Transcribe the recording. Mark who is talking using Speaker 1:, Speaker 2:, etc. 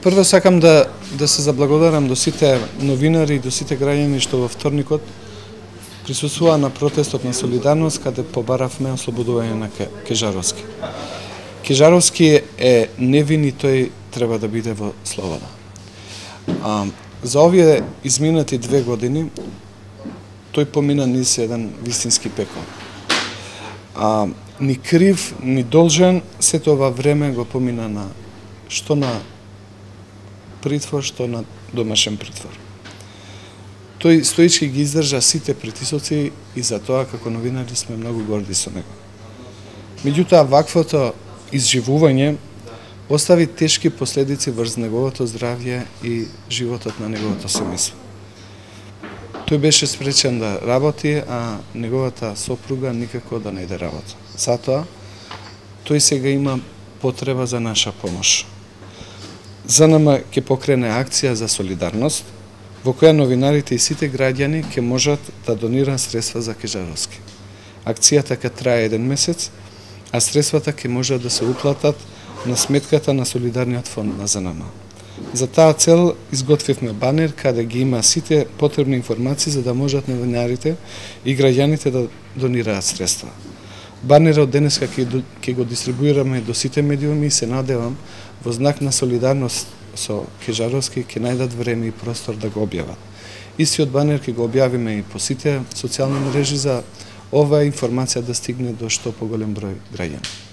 Speaker 1: Прво сакам да се заблагодарам до сите новинари и до сите граѓани што во вторникот присуствуваа на протестот на солидарност каде побаравме ослободување на Кежаровски. Кежаровски е невин и тој треба да биде во слобода. За овие изминати 2 години тој помина низ еден вистински пекол. Ни крив, ни должен, сето ова време го помина на што на притвор, што на домашен притвор. Тој стоички ги издржа сите притисоци и за тоа како новинари сме многу горди со него. Меѓутоа, ваквото изживување остави тешки последици врз неговото здравје и животот на неговото семејство. Тој беше спречен да работи, а неговата сопруга никако да најде работа. Затоа, тој сега има потреба за наша помош. ЗНМ ќе покрене акција за солидарност, во која новинарите и сите граѓани ќе можат да донираат средства за Кежаровски. Акцијата ќе трае 1 месец, а средствата ќе можат да се уплатат на сметката на Солидарниот фонд на ЗНМ. За таа цел изготвивме банер каде ги има сите потребни информации за да можат новинарите и граѓаните да донираат средства. Банерот денеска ќе го дистрибуираме до сите медиуми и се надевам во знак на солидарност со Кежаровски ќе најдат време и простор да го објават. Истиот банер ќе го објавиме и по сите социјални мрежи за оваа информација да стигне до што поголем број граѓани.